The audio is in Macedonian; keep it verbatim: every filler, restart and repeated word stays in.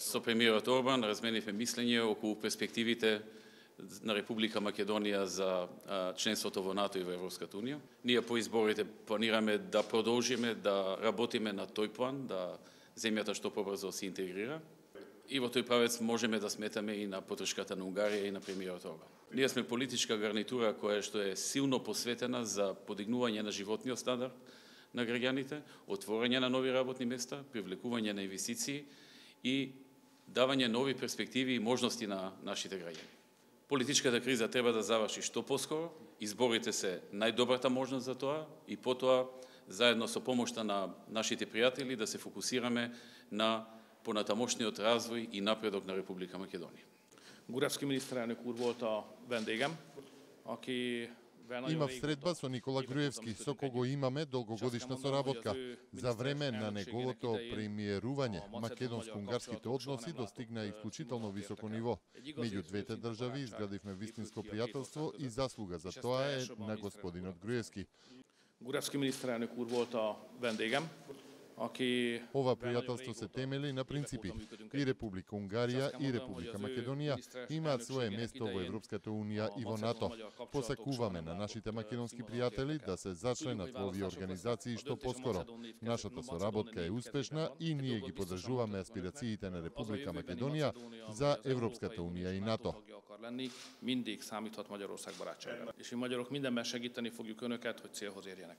Со премиерот Орбан разменивме мислење околу перспективите на Република Македонија за членството во НАТО и во Европската Унија. Ние по изборите планираме да продолжиме да работиме на тој план, да земјата што побрзо се интегрира. И во тој правец можеме да сметаме и на поддршката на Унгарија и на премиерот Орбан. Ние сме политичка гарнитура која што е силно посветена за подигнување на животниот стандард на граѓаните, отворање на нови работни места, привлекување на инвестиции и давање нови перспективи и можности на нашите граѓани. Политичката криза треба да заврши што поскоро, изборите се најдобрата можност за тоа и потоа заедно со помошта на нашите пријатели да се фокусираме на понатамошниот развој и напредок на Република Македонија. Груевски miniszterelnök úr volt a vendégem, aki Имав средба со Никола Груевски, со кого имаме долгогодишна соработка. За време на неговото премиерување, македонско-унгарските односи достигна исклучително високо ниво. Меѓу двете држави изградивме вистинско пријателство и заслуга за тоа е на господинот Груевски. Груевски miniszterelnök úr volt a vendégem. Ова пријателство се темели на принципи. И Република Унгарија и Република Македонија имаат свое место во Европската Унија и во НАТО. Посакуваме на нашите македонски пријатели да се зачленат во овие организации што поскоро. Нашата соработка е успешна и ние ги поддржуваме аспирациите на Република Македонија за Европската Унија и НАТО. Mindig számíthat Magyarország barátságára. És mi magyarok mindenben segíteni fogjuk önöket, hogy célhoz érjenek.